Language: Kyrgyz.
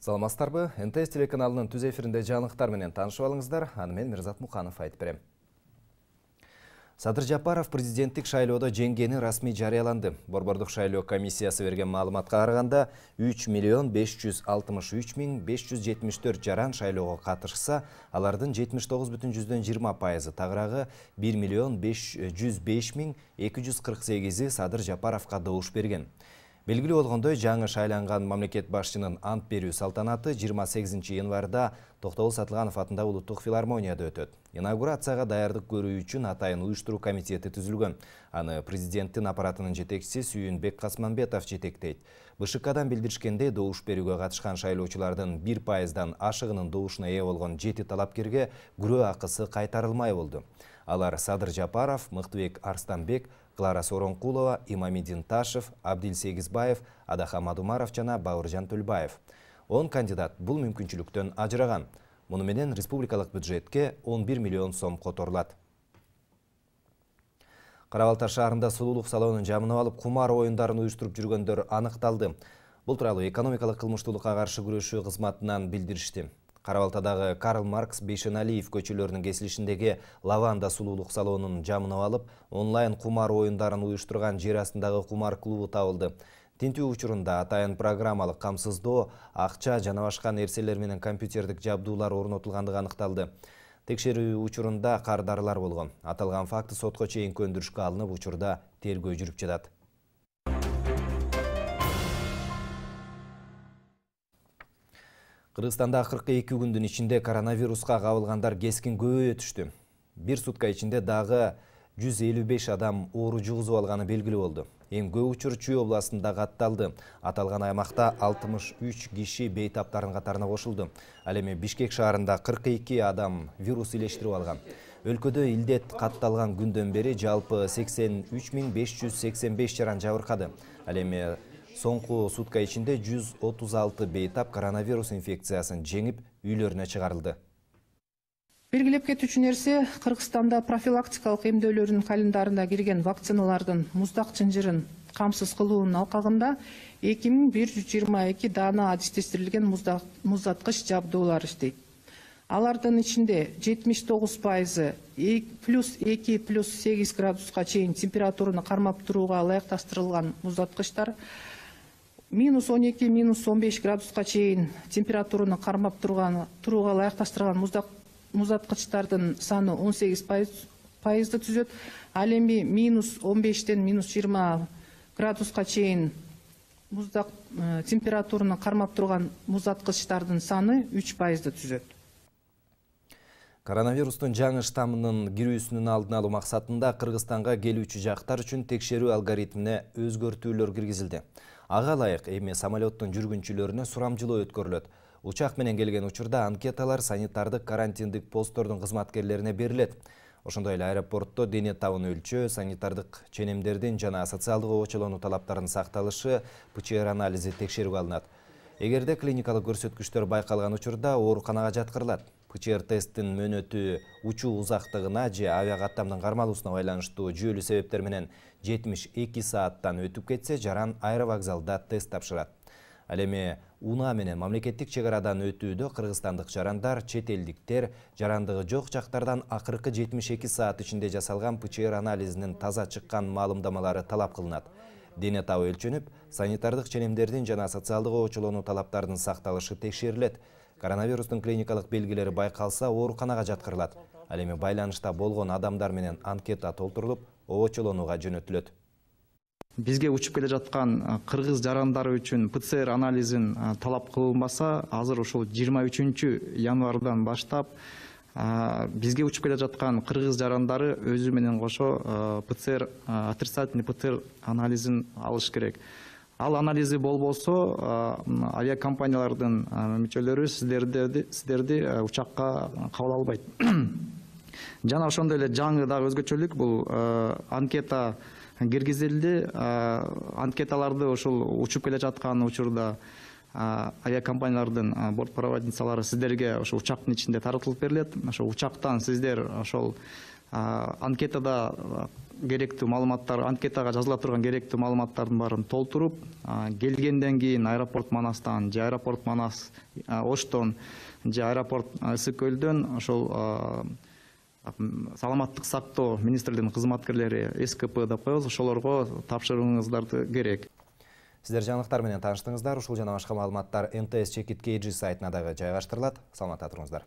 Саламатсыздарбы? НТС телеканалынын түз эфиринде жаңылыктар менен таанышып алыңыздар. Аны мен Мирзат Муканов айтып берем. Садыр Жапаров президенттик шайлоодо жеңгени расмий жарыяланды. Борбордук шайлоо комиссиясы берген маалыматка караганда 3.563.574 жаран шайлоого катышса, алардын 79,20%, тагыраагы 1.505.248 Садыр Жапаровго добуш берген. Белгилүү болгондой, жаңы шайланган мамлекет башчынын ант берүү салтанаты 28 январда Токтогул Сатылганов атындагы улуттук филармонияда өтөт. Инаугурацияга даярдык көрүү үчүн атайын уюштуруу комитети түзүлгөн. Аны президенттин аппаратынын жетекчиси Сүйүнбек Касманбетов жетектейт. БШКдан билдиришкендей, добуш берүүгө катышкан шайлоочулардын 1%дан ашыгынын добушуна ээ болгон 7 талапкерге күрөө акысы кайтарылмай болду. Алар Садыр Жапаров, Мыктыбек Арстанбек, Клара Соронкулова, Имамидин Ташев, Абдил Сегизбаев, Адахан Мадумаров жана Бауыржан Төлбаев. 10 кандидат бул мүмкүнчүлүктөн ажыраган. Муну менен республикалык бюджетке 11 миллион сом которулат. Кара Балта шаарында сулуулук салонун жамынып алып, кумар оюндарын уюштуруп жүргөндөр аныкталды. Бул тууралуу экономикалык кылмыштуулукка каршы күрөшүү кызматынан билдиришти. Кара Балтадагы Карл Маркс Бейшеналиев көчөлөрүнүн кесилишиндеги Лаванда сулуулук салонун жамынып алып, онлайн кумар оюндарын уюштурган жер астындагы кумар клубу табылды. Тинтүү учурунда атайын программалык камсыздоо, акча жана башка нерселер менен компьютердик жабдуулар орнотулгандыгы аныкталды. Текшерүү учурунда кардарылар болгон. Аталган факты сотко чейин көндүрүшкө алынып, учурда тергөө жүрүп жатат. Кыргызстанда 42 күндүн ичинде коронавируска кабылгандар кескин көбөйө түштү. Бир сутка ичинде дагы 155 адам оору жугузуп алганы белгилүү болду. Эң көп учур Чүй областында катталды. Аталган аймакта 63 киши бейтаптардын катарына кошулду. Ал эми Бишкек шаарында 42 адам вирус илештирип алган. Өлкөдө илдет катталган күндөн бери жалпы 83.585 жаран жабыркады. Ал эми соңку сутка ичинде 136 бейтап коронавирус инфекциясын жеңип, үйлөрүнө чыгарылды. Белгилеп кетүүчү нерсе, Кыргызстанда профилактикалык эмдөөлөрдүн календарына кирген вакциналардын муздак чынжырын камсыз кылуунун алкагында 2122 даана адистештирилген муздаткыч жабдуулар иштейт. Алардын ичинде 79% +2+8 градуска чейин температураны кармап турууга ылайыкташтырылган муздаткычтар, -12, -15 градуска чейин температураны кармап турууга ылайыкташтырылган муздаткычтардын саны 18%ды түзөт. Ал эми -15ден -20 градуска чейин температураны кармап турган муздаткычтардын саны 3%ды түзөт. Коронавирустун жаңы штаммынын кирүүсүнүн алдын алуу максатында Кыргызстанга келүүчү жактар үчүн текшерүү алгоритмине өзгөртүүлөр киргизилди. Ага ылайык эми самолеттун жүргүнчүлөрүнө сурамжылоо өткөрүлөт. Учак менен келген учурда анкеталар санитардык карантиндик посттордун кызматкерлерине берилет. Ошондой эле аэропортто дене табын өлчөө, санитардык ченемдердин жана социалдык обочолонуу талаптарынын сакталышы ПЧР анализи текшерүүгө алынат. Эгерде клиникалык көрсөткүчтөр байкалган учурда ооруканага жаткырылат. ПЧР тесттин мөөнөтү учуу узактыгына же авиакаттамдын кармалуусуна байланыштуу жүйөлүү себептер менен 72 сааттан өтүп кетсе, жаран аэровокзалда тест тапшырат. Ал эми УНА менен мамлекеттик чек арадан өтүүдө кыргызстандык жарандар, чет элдиктер жарандыгы жок жактардан акыркы 72 саат ичинде жасалган ПЧР анализинин таза чыккан маалымдамалары талап кылынат. Дене табы өлчөнүп, санитардык ченемдердин жана социалдык обочолонуу талаптарынын сакталышы текшерилет. Коронавирустун клиникалык белгилери байкалса, ооруканага жаткырылат. Ал эми байланышта болгон адамдар менен анкета толтурулуп, обочолонууга жөнөтүлөт. Бизге учуп келе жаткан кыргыз жарандары үчүн ПЦР анализин талап кылынбаса, азыр ушул 23 январдан баштап бизге учуп келе жаткан кыргыз жарандары өзү менен кошо ПЦР, отрицательный ПЦР анализин алыш керек. Ал анализи болбосо, авиакомпаниялардын мүчөлөрү сиздерди учакка кабыл албайт. Жана ошондой эле жаңы дагы өзгөчөлүк бул анкета киргизилди. Анкеталарды ошол учуп келе жаткан учурда авиакомпаниялардын бортпроводницалары сиздерге ошо учактын ичинде таратылып берилет. Ошо учактан сиздер ошол анкетада керектүү маалыматтар, анкетага жазыла турган керектүү маалыматтардын баарын толтуруп, келгенден кийин аэропорт Манастан же аэропорт Манас Оштон же аэропорт Ысык Көлдөн ошол саламаттык сактоо министрлигинин кызматкерлери СКП деп коебуз, ошолорго тапшырууңуздарды керек. Сиздер жаңылыктар менен тааныштыңыздар. Ушул жана башка маалыматтар МТС Чекит KG сайтына дагы жайгаштырылат. Саламатта туруңуздар.